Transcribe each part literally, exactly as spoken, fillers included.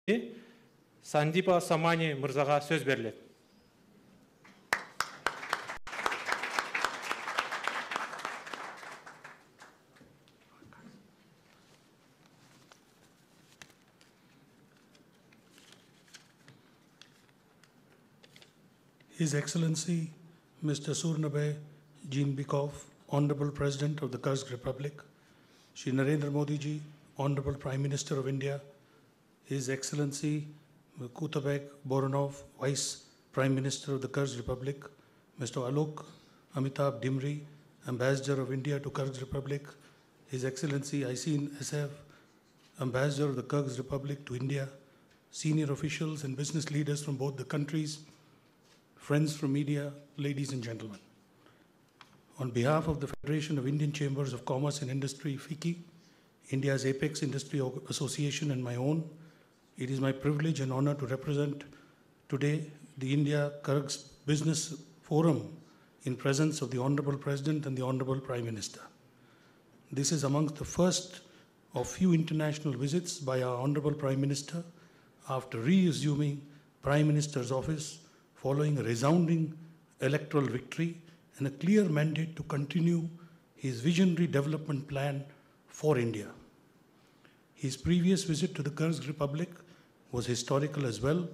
Сандипа Самани мырзага сөз берилет. His Excellency Mister Surnabhay Jeenbekov, Honorable President of the Kyrgyz Republic, Shri Narendra Modi ji, Honorable Prime Minister of India, His Excellency Kutabek Boronov, Vice Prime Minister of the Kyrgyz Republic, Mister Alok Amitabh Dimri, Ambassador of India to Kyrgyz Republic, His Excellency Isin Esev, Ambassador of the Kyrgyz Republic to India, senior officials and business leaders from both the countries, friends from media, ladies and gentlemen. On behalf of the Federation of Indian Chambers of Commerce and Industry, FICCI, India's apex industry association, and my own, it is my privilege and honor to represent today the India-Kyrgyz Business Forum in presence of the Honorable President and the Honorable Prime Minister. This is amongst the first of few international visits by our Honorable Prime Minister after re-assuming Prime Minister's office following a resounding electoral victory and a clear mandate to continue his visionary development plan for India. His previous visit to the Kyrgyz Republic was historical as well,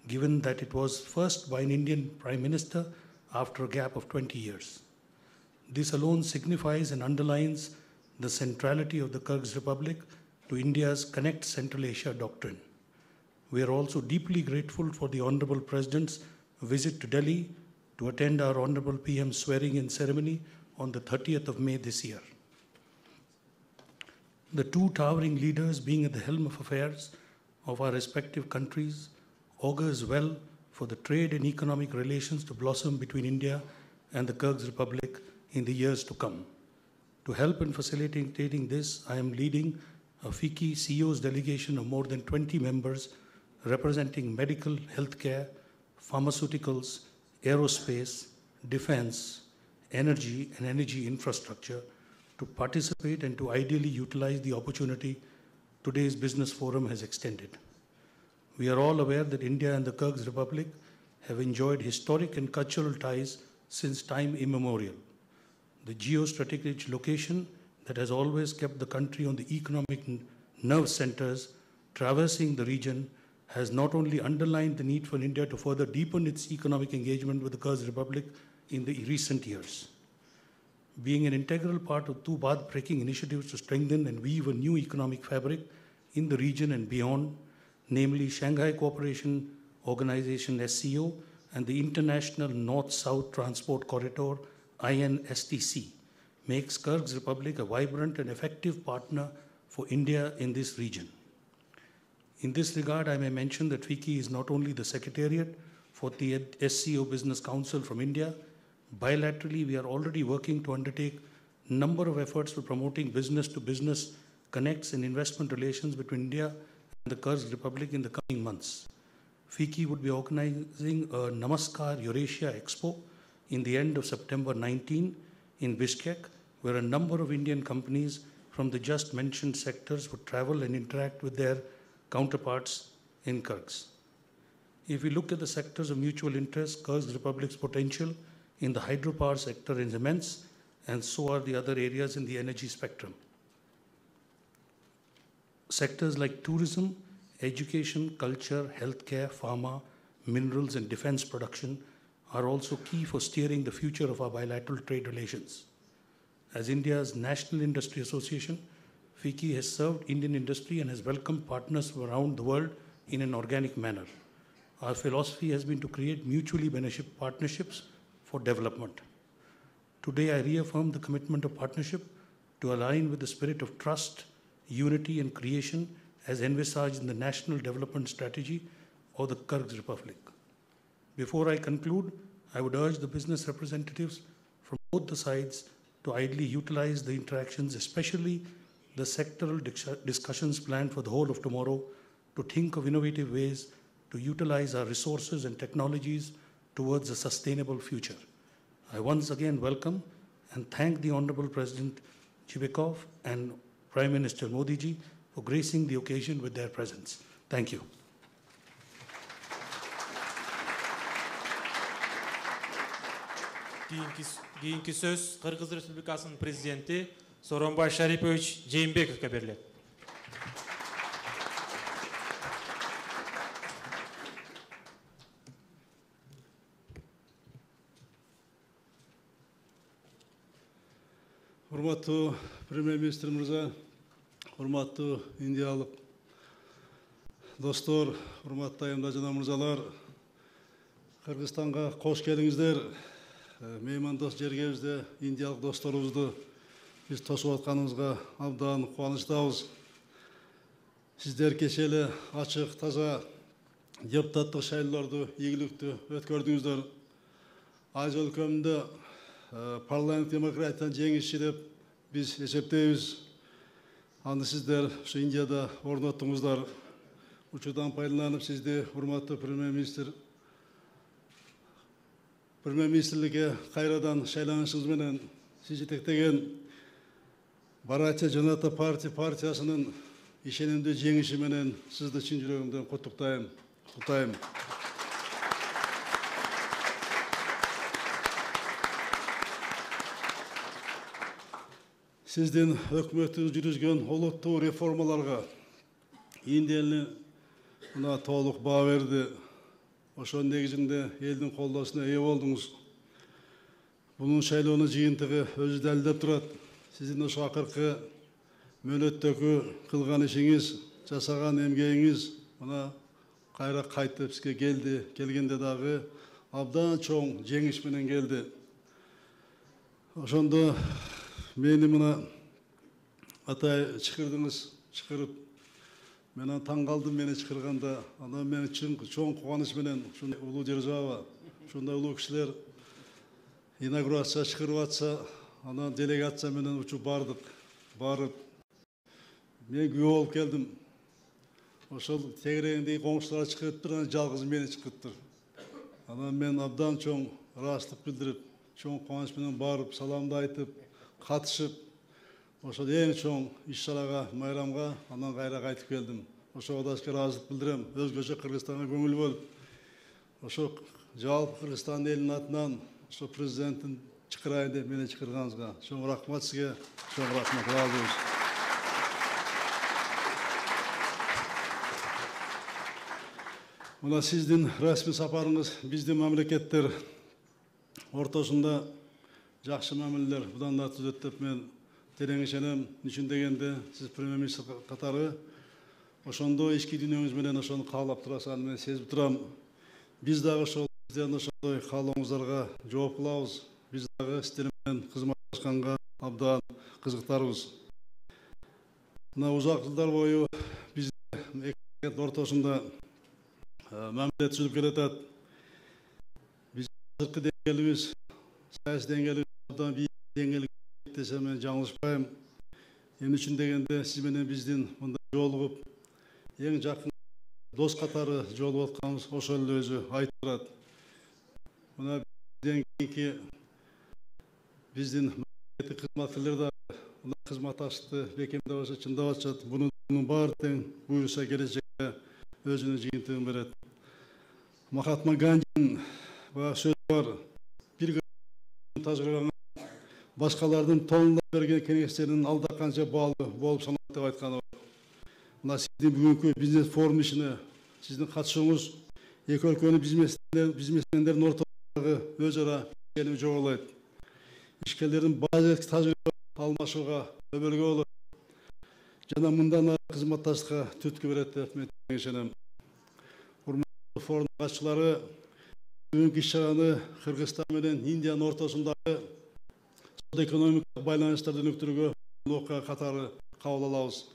given that it was first by an Indian Prime Minister after a gap of twenty years. This alone signifies and underlines the centrality of the Kyrgyz Republic to India's Connect Central Asia doctrine. We are also deeply grateful for the Honorable President's visit to Delhi to attend our Honorable P M swearing-in ceremony on the thirtieth of May this year. The two towering leaders being at the helm of affairs of our respective countries augurs well for the trade and economic relations to blossom between India and the Kyrgyz Republic in the years to come. To help in facilitating this, I am leading a FICCI C E O's delegation of more than twenty members representing medical, healthcare, pharmaceuticals, aerospace, defense, energy, and energy infrastructure to participate and to ideally utilize the opportunity today's business forum has extended. We are all aware that India and the Kyrgyz Republic have enjoyed historic and cultural ties since time immemorial. The geostrategic location that has always kept the country on the economic nerve centers traversing the region has not only underlined the need for India to further deepen its economic engagement with the Kyrgyz Republic in the recent years. Being an integral part of two path-breaking initiatives to strengthen and weave a new economic fabric in the region and beyond, namely Shanghai Cooperation Organization S C O and the International North-South Transport Corridor I N S T C, makes Kyrgyz Republic a vibrant and effective partner for India in this region. In this regard, I may mention that FICCI is not only the secretariat for the S C O Business Council from India. Bilaterally, we are already working to undertake a number of efforts for promoting business-to-business connects and investment relations between India and the Kyrgyz Republic in the coming months. FICCI would be organizing a Namaskar Eurasia Expo in the end of September nineteenth in Bishkek, where a number of Indian companies from the just mentioned sectors would travel and interact with their counterparts in Kyrgyz. If we look at the sectors of mutual interest, Kyrgyz Republic's potential in the hydropower sector is immense, and so are the other areas in the energy spectrum. Sectors like tourism, education, culture, healthcare, pharma, minerals, and defense production are also key for steering the future of our bilateral trade relations. As India's National Industry Association, FICCI has served Indian industry and has welcomed partners from around the world in an organic manner. Our philosophy has been to create mutually beneficial partnerships for development. Today, I reaffirm the commitment of partnership to align with the spirit of trust, unity, and creation as envisaged in the National Development Strategy of the Kyrgyz Republic. Before I conclude, I would urge the business representatives from both the sides to ideally utilize the interactions, especially the sectoral discussions planned for the whole of tomorrow, to think of innovative ways to utilize our resources and technologies towards a sustainable future. I once again welcome and thank the Honorable President Jeenbekov and Prime Minister Modi ji for gracing the occasion with their presence. Thank you. Кийинки кийинки сөз Кыргыз Республикасынын президенти Сооронбай Шарипович Жээнбековго берилет. Урматтуу премьер-министр мырза, урматтуу индиялык достор, урматтуу айымдар жана мырзалар, Кыргызстанга кош келиңиздер. Меймандос жергебизде индиялык досторубузду биз тосуп атканыбызга абдан кубанычтабыз. Сиздер кечээ эле ачык, таза депутаттык шайлоолорду ийгиликтүү өткөрдүңүздөр. Азия өлкөмүндө парламент демократияны жеңишчи деп биз эсептейбиз. Аны сиздер ушу Индияда орноттуңуздар. Учурдан пайдаланып сизди урматтуу премьер-министр премьер-министрликке кайрадан шайланышыңыз менен сиз жетектеген Бharatiya Janata Party партиясынын ишенимдүү жеңиши менен сизди чын жүрөгүмдөн куттуктайм. Куттуктайм. Сиздин өкмөтү жүргүзгөн олуттуу реформаларга Индия эли мына толук баа берди. Ошонун негизинде элдин колдоосуна ээ болдуңуз. Бунун шайлоонун жыйынтыгы өзү далилдеп турат. Сиздин ошо акыркы мөөнөттөгү кылган ишиңиз, жасаган эмгегиңиз мына кайра кайтып бизге келди. Келгенде дагы абдан чоң жеңиш менен келди. Ошондо мени мына атай чакырдыңыз, чакырып мен таң калдым мени чакырганда. Анан мен чын чоң кубаныч менен ушундай улуу держава, ушундай улуу кишилер инаугурация чакырып атса, анан делегация менен учуп бардык. Барып мен күбө болуп келдим. Ошол тегерегиндеги коңшулар чакырыптыр, анан жалгыз мени чакырыптыр. Анан мен абдан чоң ыраазычтык билдирип, чоң кубаныч менен барып, саламды айтып, катышып, ошол эң чоң иш-чарага, майрамга анан кайра кайтып келдим. Ошого да ыраазычылык билдирем. Өзгөчө Кыргызстанга көңүл бөлүп, ошо жалпы Кыргызстан элинин атынан ошо президенттин чакырайын деп мени чакырганыңызга чоң рахмат сизге, чоң рахмат. Ыраазыбыз. Мына сиздин расмий сапарыңыз биздин мамлекеттер ортосунда жакшы мамилелер будан да түзөт деп мен терең ишенем. Үчүн дегенде сиз премьер-министр катары ошондо ички дүйнөңүз менен ошону каалап турасыз, мен сезип турам. Биз дагы ошол сиздердин ошондой каалооңуздарга жооп кылабыз. Биз дагы сиздер менен кызматташканга абдан кызыктарбыз. Мына узак жылдар бою биздин эки мамлекет ортосунда мамиле түзүлүп келатат. Биз сырткы деңгээлибиз, саясий деңгээлибиз абдан бийик деңгээлге десем мен жаңылышпайм. Эмне үчүн дегенде сиз менен биздин мында жолугуп, эң жакын дос катары жолугуп атканыбыз ошол эле өзү айтып турат. Мына бизден кийинки биздин мамлекеттик кызматкерлер да мына кызматташтыкты бекемдеп атышат, чындап атышат. Бунун баары тең буюрса келечекте өзүнүн жыйынтыгын берет. Махатма Гандинин баягы сөзү бар. Бир тажрыйбаңа башкалардын толундап берген кеңештеринин алда канча баалуу болуп саналат деп айтканы бар. Мына сиздин бүгүнкү бизнес форум ишине сиздин катышууңуз эки өлкөнүн бизнесмендердин ортосундагы өз ара ишеними жогорулайт. Ишкерлердин базалык тажрыйба алмашууга өбөлгө болот. Жана мындан ары кызматташтыкка түрткү берет деп мен ишенем. Урматтуу форум катчылары, бүгүнкү иш-чараны Кыргызстан менен Индиянын ортосундагы экономикалык байланыштарды өнүктүрүүгө окуя катары кабыл алабыз.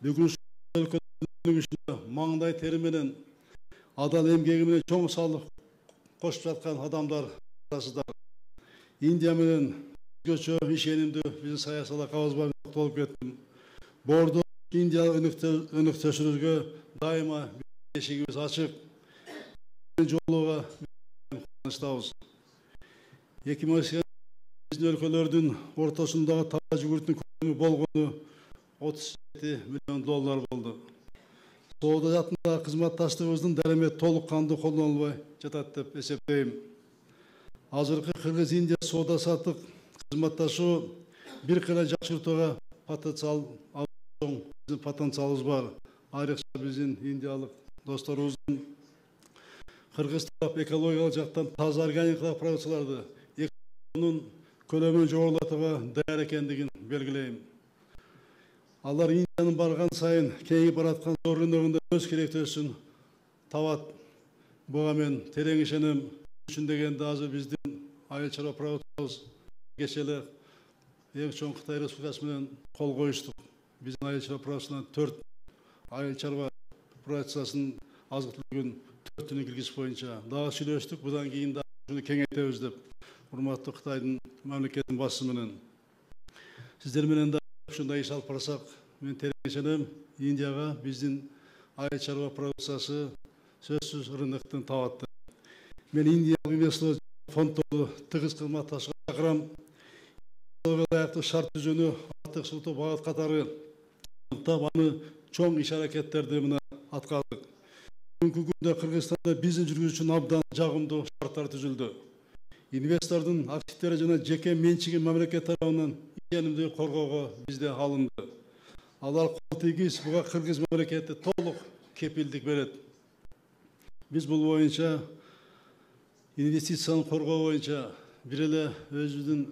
Бүгүн өлкөнүн маңдай тери менен, адал эмгеги менен чоң салык кошуп жаткан адамдар арасында Индия менен өзгөчө ишенимдүү биздин саясатка кабызбай токтолуп кеттим. Бордо Индия өнүктүрүүгө дайыма эшигибиз ачык. Жолуга кубанычтабыз. эки миң он сегизинчи биздин өлкөлөрдүн ортосундагы тава жүгүртүнүн көлөмү болгону отуз жети миллион доллар болду. Соода жаатындагы кызматташтыгыбыздын дарамет толук кандуу колдонулбай жатат деп эсептейм. азыркы Кыргыз Индия соода саттык кызматташуу бир кыйла жакшыртууга потенциал чоң потенциалыбыз бар. Айрыкча биздин индиялык досторубуздун Кыргыз тарап экологиялык жактан таза органикалык продукцияларды экспортунун көлөмүн жогорулатууга даяр экендигин белгилейм. Алар Индиянын барган сайын кеңейип бараткан зор рыногунда өз керектөөсүн табат. Буга мен терең ишенем. Үчүн дегенде азыр биздин айыл чарба продукциябыз кечээ эле эң чоң Кытай Республикасы менен кол коюштук. Биздин айыл чарба продукциясынан төрт айыл чарба продукциясынын азык түлүгүн төртүнү киргизиш боюнча дагы сүйлөштүк. Будан кийин да ушуну кеңейтебиз деп. Урматтуу Кытайдын мамлекеттин башчысы менен сиздер менен да ушундай иш алып барсак, мен терең ишенем, Индияга биздин айыл чарба продукциясы сөзсүз рыноктон табат. Мен Индиялык инвестор фонддорду тыгыз кызматташууга чакырам. Ылайыктуу шарт түзүүнү артык сутуу багыт катары тап аны чоң иш аракеттерди мына аткардык. Бүгүнкү күндө Кыргызстанда бизнес жүргүзүү үчүн абдан жагымдуу шарттар түзүлдү. Инвестордун активдери жана жеке менчиги мамлекет тарабынан ишенимди коргоого бизде алынды. Алар кол тийгиз буга Кыргыз мамлекети толук кепилдик берет. Биз бул боюнча инвестицияны коргоо боюнча бир эле өзүбүздүн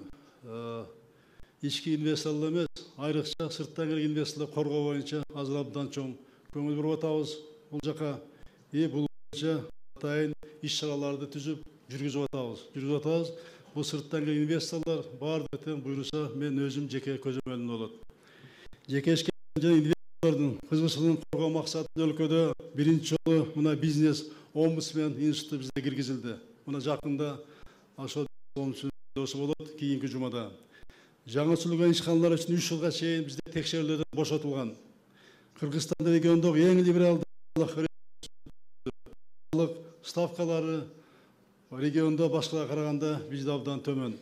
ички инвесторлор эмес, айрыкча сырттан келген инвесторлор коргоо боюнча азыр абдан чоң көңүл буруп атабыз. Бул жака и бул боюнча атайын иш чараларды түзүп жүргүзүп атабыз. Жүргүзүп атабыз. Бул сырттан келген инвесторлор баардыгы тең буйруса, мен өзүм жеке көзөмөлүм болот. Жеке жана инвесторлордун кызыкчылыгын коргоо максатында өлкөдө биринчи жолу мына бизнес омбудсмен институту бизде киргизилди. Мына жакында ошол омбудсмен болот кийинки жумада. Жаңы сүрүлгөн ишканалар үчүн үч жылга чейин бизде текшерүүлөрдөн бошотулган. Кыргызстан региондогу эң либералдык ставкалары региондо башкаларга караганда бизде абдан төмөн.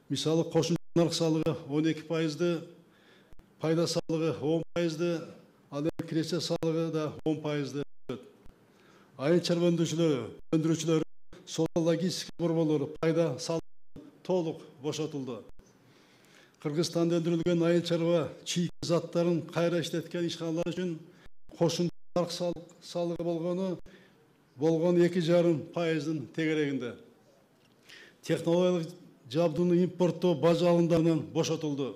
Мисалы кошумча нарык салыгы он эки пайызды, пайда салыгы он пайызды, ал эми киреше салыгы да он пайызды. Айыл чарба өндүрүүчүлөрү, өндүрүүчүлөрү, соода логистика борборлору пайда салыгы толук бошотулду. Кыргызстанда өндүрүлгөн айыл чарба чийки заттарын кайра иштеткен ишканалар үчүн кошумча нарык салыгы болгону болгон эки жарым пайыздын тегерегинде. Технологиялык жабдууну импорттоо бажы алымдарынан бошотулду.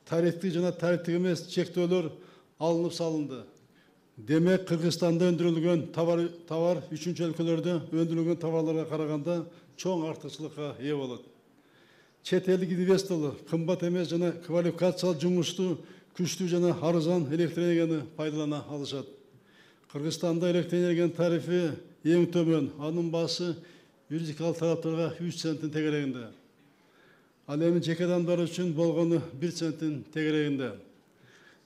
Тарифтик жана тарифтик эмес чектөөлөр алынып салынды. Демек, Кыргызстанда өндүрүлгөн товар товар үчүнчү өлкөлөрдө өндүрүлгөн товарларга караганда чоң артыкчылыкка ээ болот. Чет элдик инвесторлор кымбат эмес жана квалификациялуу жумушту күчтүү жана арзан электр энергияны пайдалана алышат. Кыргызстанда электр энергиянын тарифи эң төмөн, анын баасы юридикалык тараптарга үч центтин тегерегинде. Ал эми жеке адамдар үчүн болгону бир центтин тегерегинде.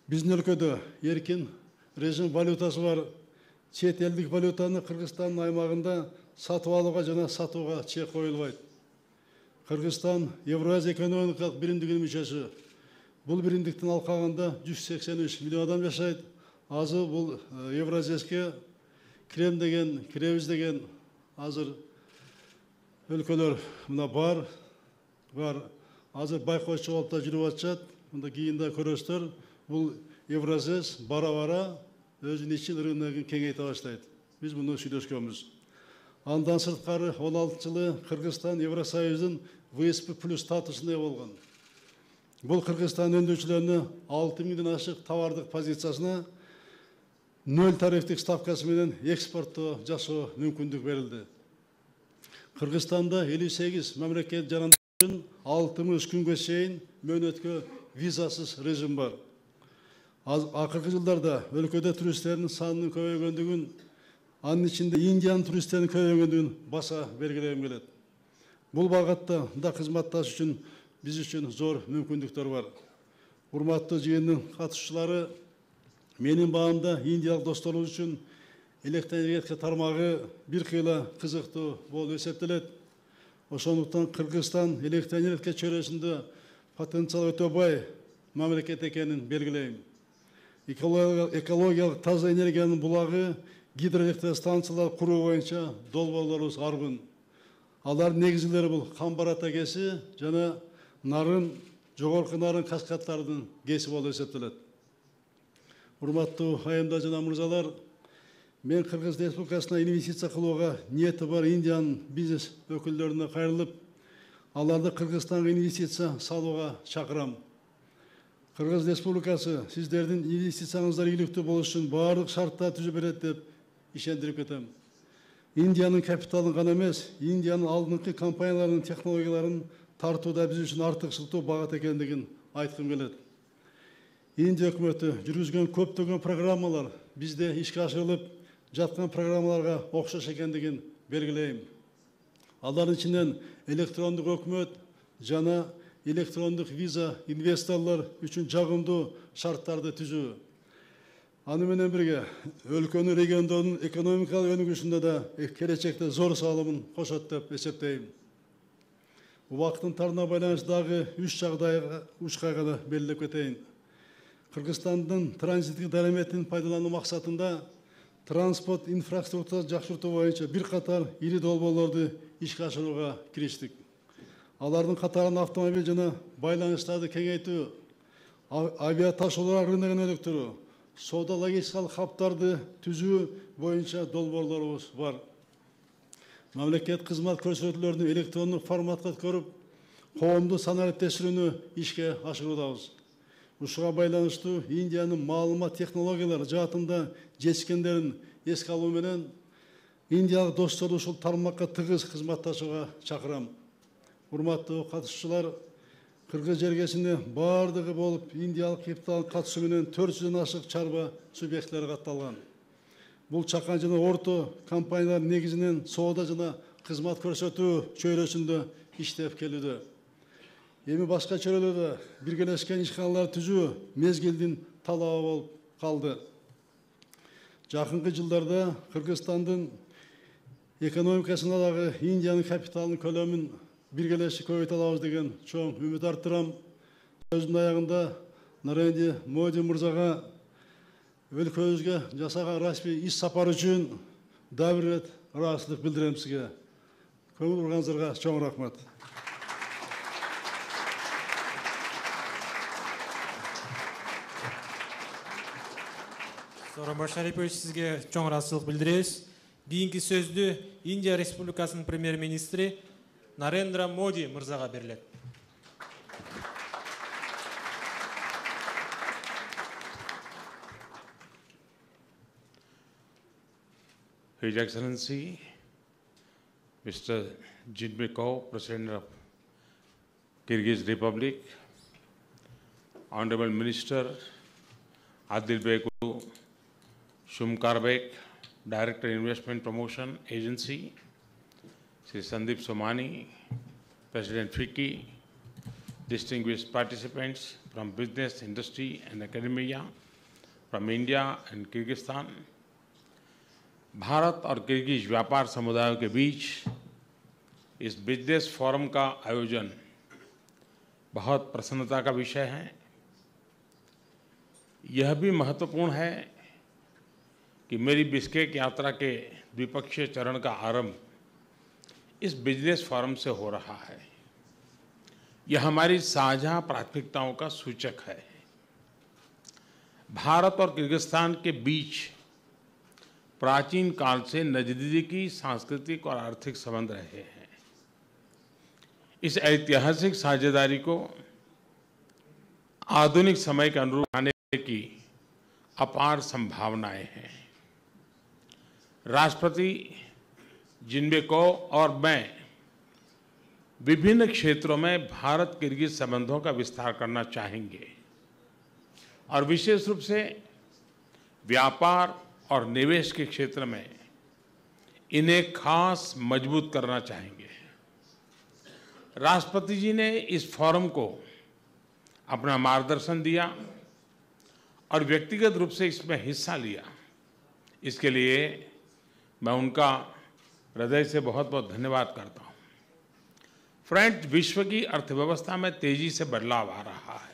Биздин өлкөдө эркин режим валютасы бар. Чет элдик валютаны Кыргызстандын аймагында сатып алууга жана сатууга чек коюлбайт. Кыргызстан Евразия экономикалык биримдигинин мүчөсү. Бул биримдиктин алкагында жүз сексен үч миллион адам жашайт. Азыр бул Евразияске кирем деген, киребиз деген азыр өлкөлөр мына бар, бар. Азыр байкоочу болуп да жүрүп атышат. Мында кийинде көрөсүздөр. Бул Евразес бара-бара өзүнүн ичин рыногун кеңейте баштайт. Биз муну сүйлөшкөнбүз. Андан сырткары он алтынчы жылы Кыргызстан Евросоюздун вэ эс пэ плюс статусуна ээ болгон. Бул Кыргызстан өндүрүүчүлөрүнө алты миңден ашык товардык позициясына нөл тарифтик ставкасы менен экспорттоо жасоо мүмкүндүк берилди. Кыргызстанда элүү сегиз мамлекет жарандар үчүн алтымыш күнгө чейин мөөнөткө визасыз режим бар. Акыркы жылдарда өлкөдө туристтердин санынын көбөйгөндүгүн, анын ичинде Индиянын туристтеринин көбөйгөндүгүн баса бергилегим келет. Бул багытта да кызматташ үчүн биз үчүн зор мүмкүндүктөр бар. Урматтуу жыйындын катышуучулары, менин баамда индиялык досторубуз үчүн электр энергетика тармагы бир кыйла кызыктуу болуп эсептелет. Ошондуктан Кыргызстан электр энергетика чөйрөсүндө потенциал өтө бай мамлекет экенин белгилейм. Экологиялык таза энергиянын булагы, гидроэлектростанциялар куруу боюнча долбоорлорубуз арбын. Алар негизгилери бул Камбарата кеси жана нарын, жогорку нарын каскадтардын кеси болуп эсептелет. Урматтуу айымдар жана мырзалар, мен Кыргыз Республикасына инвестиция кылууга ниети бар Индиянын бизнес өкүлдөрүнө кайрылып, аларды Кыргызстанга инвестиция салууга чакырам. Кыргыз Республикасы сиздердин инвестицияңыздар ийгиликтүү болуш үчүн баардык шарттарды түзүп берет деп ишендирип кетем. Индиянын капиталын гана эмес, Индиянын алдыңкы компанияларынын технологияларын тартууда биз үчүн артыкчылыктуу багат экендигин айткым келет. Индия өкмөтү жүргүзгөн көптөгөн программалар бизде ишке ашырылып жаткан программаларга окшош экендигин белгилейм. Алардын ичинен электрондук өкмөт жана электрондук виза инвесторлор үчүн жагымдуу шарттарды түзүү. Аны менен бирге өлкөнүн региондордун экономикалык өнүгүшүндө да келечекте зор салымын кошот деп эсептейм. Убакыттын тарына байланыштуу дагы үч жагдайга үч кайганы белгилеп кетейин. Кыргызстандын транзиттик дараметин пайдалануу максатында транспорт инфраструктурасын жакшыртуу боюнча бир катар ири долбоорлорду ишке ашырууга кириштик. Алардын катарында автомобиль жана байланыштарды кеңейтүү, авиа ташуулар рыногун өнүктүрүү, соода логистикалык хабтарды түзүү боюнча долбоорлорубуз бар. Мамлекет кызмат көрсөтүүлөрүнү электрондук форматка өткөрүп, коомдук санариптештирүүнү ишке ашыруудабыз. Ушуга байланыштуу Индиянын маалымат технологиялары жаатында жетишкендерин эске алуу менен индиялык досторду ушул тармакка тыгыз кызматташууга чакырам. Урматтуу катышуучулар, Кыргыз жергесинде баардыгы болуп индиялык капиталдын катышуу менен төрт жүздөн ашык чарба субъекттери катталган. Бул чакан жана орто компаниялар негизинен соода жана кызмат көрсөтүү чөйрөсүндө иштеп келүүдө. Эми башка чөйрөлөрдө биргелешкен ишканалар түзүү мезгилдин талабы болуп калды. Жакынкы жылдарда Кыргызстандын экономикасына дагы Индиянын капиталынын көлөмүн биргелешип көбөйтө алабыз деген чоң үмүт арттырам. Сөздүн аягында Нарендра Моди мырзага өлкөбүзгө жасаган расмий иш сапар үчүн дагы бир рет ыраазычылык билдирем сизге. Көңүл бурганыңыздарга чоң рахмат. Сооронбай Шарипович, сизге чоң ыраазычылык билдиребиз. Кийинки сөздү Индия Республикасынын премьер-министри Нарендра Моди мырзага берилет. His Excellency, Mister Jinpei Kao, President of Kyrgyz Republic, Honorable Minister Adilbek Shumkarbek, Director Investment Promotion Agency, Sri Sandeep Somani, President FICCI, distinguished participants from business, industry and academia from India and Kyrgyzstan, Bharat और किर्गिज व्यापार समुदायों के बीच इस business forum का आयोजन बहुत प्रसन्नता का विषय है। यह भी महत्वपूर्ण है कि मेरी बिश्केक यात्रा के द्विपक्षीय चरण का आरंभ इस बिजनेस फोरम से हो रहा है। यह हमारी साझा प्राथमिकताओं का सूचक है। भारत और किर्गिस्तान के बीच प्राचीन काल से नजदीकी सांस्कृतिक और आर्थिक संबंध रहे हैं। इस ऐतिहासिक साझेदारी को आधुनिक समय के अनुरूप आने की अपार संभावनाएं हैं। राष्ट्रपति जिनबे काओ और मैं विभिन्न क्षेत्रों में भारत किर्गिज संबंधों का विस्तार करना चाहेंगे और विशेष रूप से व्यापार और निवेश के क्षेत्र में इन्हें खास मजबूत करना चाहेंगे। राष्ट्रपति जी ने इस फोरम को अपना मार्गदर्शन दिया और व्यक्तिगत रूप से इसमें हिस्सा लिया। इसके लिए मैं उनका हृदय से बहुत बहुत धन्यवाद करता हूँ। फ्रेंड्स, विश्व की अर्थव्यवस्था में तेजी से बदलाव आ रहा है।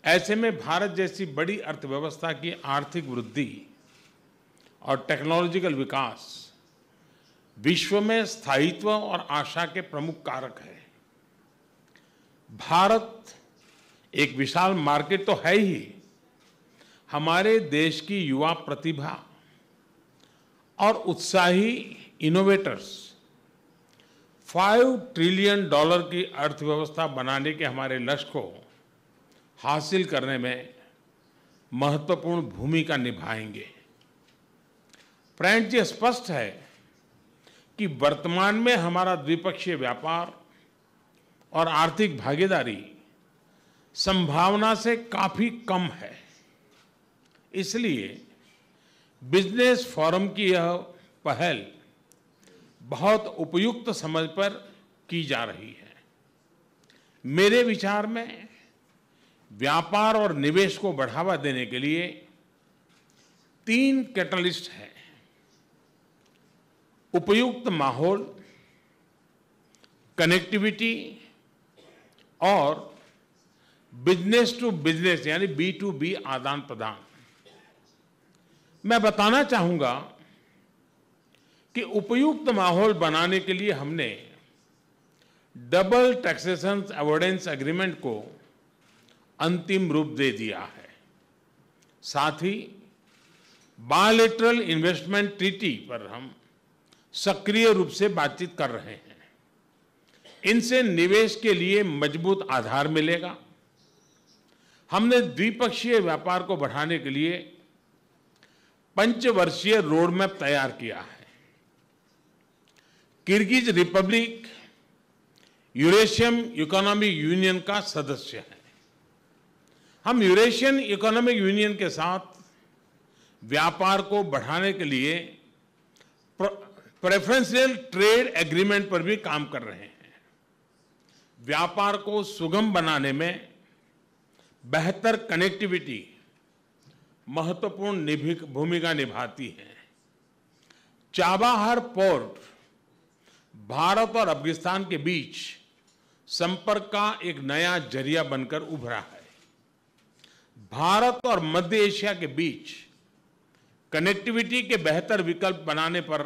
ऐसे में भारत जैसी बड़ी अर्थव्यवस्था की आर्थिक वृद्धि और टेक्नोलॉजिकल विकास विश्व में स्थायित्व और आशा के प्रमुख कारक है। भारत एक विशाल मार्केट तो है ही, हमारे देश की युवा प्रतिभा और उत्साही इनोवेटर्स फाइव ट्रिलियन डॉलर की अर्थव्यवस्था बनाने के हमारे लक्ष्य को हासिल करने में महत्वपूर्ण भूमिका निभाएंगे। फ्रेंड्स, ये स्पष्ट है कि वर्तमान में हमारा द्विपक्षीय व्यापार और आर्थिक भागीदारी संभावना से काफी कम है। इसलिए बिजनेस फोरम की यह पहल बहुत उपयुक्त समझ पर की जा रही है। मेरे विचार में व्यापार और निवेश को बढ़ावा देने के लिए तीन कैटलिस्ट हैं: उपयुक्त माहौल, कनेक्टिविटी और बिजनेस टू बिजनेस यानी बी टू बी आदान प्रदान। मैं बताना चाहूंगा कि उपयुक्त माहौल बनाने के लिए हमने डबल टैक्सेशन अवॉइडेंस एग्रीमेंट को अंतिम रूप दे दिया है। साथ ही बायलैटरल इन्वेस्टमेंट ट्रीटी पर हम सक्रिय रूप से बातचीत कर रहे हैं। इनसे निवेश के लिए मजबूत आधार मिलेगा। हमने द्विपक्षीय व्यापार को बढ़ाने के लिए पंचवर्षीय रोड मैप तैयार किया है। Kyrgyz Republic Eurasian economic union का सदस्य है। हम यूरेशियन इकोनॉमिक यूनियन के साथ व्यापार को बढ़ाने के लिए प्रेफरेंशियल ट्रेड एग्रीमेंट पर भी काम कर रहे हैं। व्यापार को सुगम बनाने में बेहतर कनेक्टिविटी महत्वपूर्ण भूमिका निभाती है। चाबाहार पोर्ट भारत और अफगानिस्तान के बीच संपर्क का एक नया जरिया बनकर उभरा है। भारत और मध्य एशिया के बीच कनेक्टिविटी के बेहतर विकल्प बनाने पर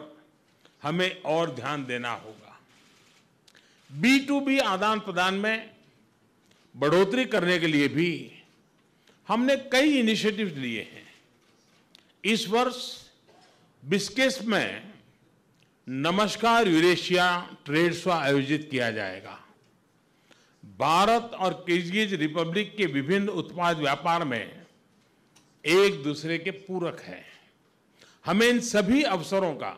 हमें और ध्यान देना होगा। बी टू बी आदान प्रदान में बढ़ोतरी करने के लिए भी हमने कई इनिशिएटिव लिए हैं। इस वर्ष बिस्केट में नमस्कार यूरेशिया ट्रेड शो आयोजित किया जाएगा। भारत और किर्गिज रिपब्लिक के विभिन्न उत्पाद व्यापार में एक दूसरे के पूरक हैं। हमें इन सभी अवसरों का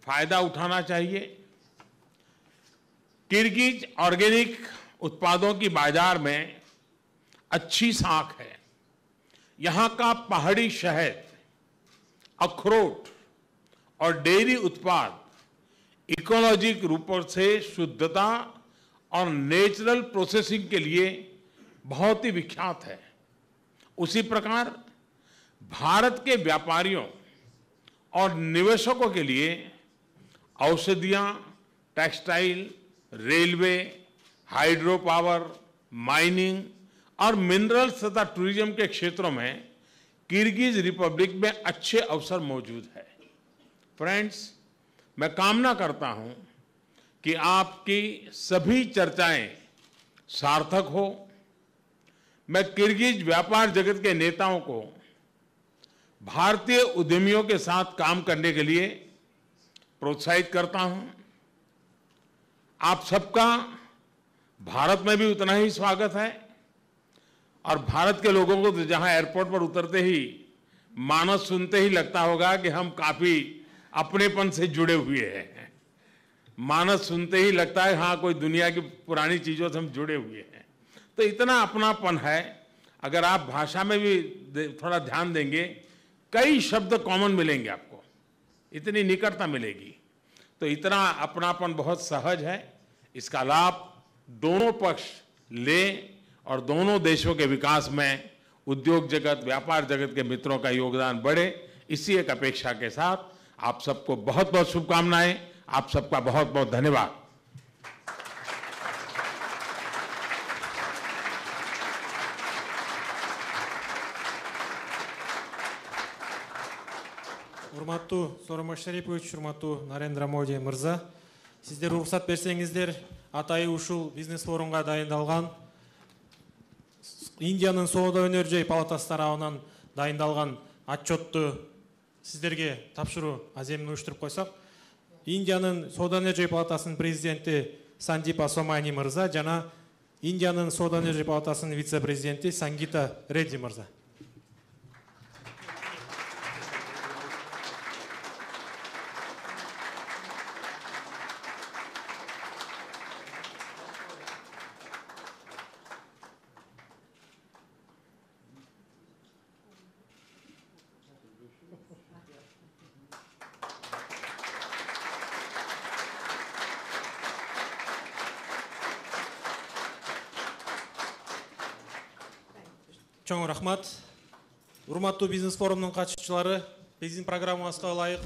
फायदा उठाना चाहिए। किर्गिज ऑर्गेनिक उत्पादों की बाजार में अच्छी साख है। यहां का पहाड़ी शहद, अखरोट और डेयरी उत्पाद इकोलॉजिक रूप से शुद्धता और नेचुरल प्रोसेसिंग के लिए बहुत ही विख्यात है। उसी प्रकार भारत के व्यापारियों और निवेशकों के लिए औषधियां, textile, railway, hydro power, mining और मिनरल्स तथा टूरिज्म के क्षेत्रों में किर्गिज रिपब्लिक में अच्छे अवसर मौजूद है। फ्रेंड्स, मैं कामना करता हूं कि आपकी सभी चर्चाएं सार्थक हो। मैं किर्गिज व्यापार जगत के नेताओं को भारतीय उद्यमियों के साथ काम करने के लिए प्रोत्साहित करता हूं। आप सबका भारत में भी उतना ही स्वागत है और भारत के लोगों को तो जहां एयरपोर्ट पर उतरते ही मानस सुनते ही लगता होगा कि हम काफी अपनेपन से जुड़े हुए हैं। मानस सुनते ही लगता है हाँ कोई दुनिया की पुरानी चीजों से हम जुड़े हुए हैं। तो इतना अपनापन है। अगर आप भाषा में भी थोड़ा ध्यान देंगे, कई शब्द कॉमन मिलेंगे आपको, इतनी निकटता मिलेगी। तो इतना अपनापन बहुत सहज है। इसका लाभ दोनों पक्ष ले और दोनों देशों के विकास में उद्योग जगत, व्यापार जगत के मित्रों का योगदान बढ़े, इसी एक अपेक्षा के साथ आप सबको बहुत बहुत शुभकामनाएं। आप सबका बहुत बहुत धन्यवाद। урматтуу Сооронбай Шарипович, урматтуу Нарендра Моди мырза, сиздер уруксат берсеңиздер, атайы ушул бизнес форумга дайындалган Индиянын соода өнөр жай палатасы тарабынан дайындалган отчетту сиздерге тапшыруу аземин уюштуруп койсок, Индиянын соода өнөр жай палатасынын президенти Сандипа Сомани мырза жана Индиянын соода өнөр жай палатасынын вице-президенти Сангита Редди мырза. Чоң рахмат. Урматтуу бизнес форумунун катышуучулары, биздин программабызга ылайык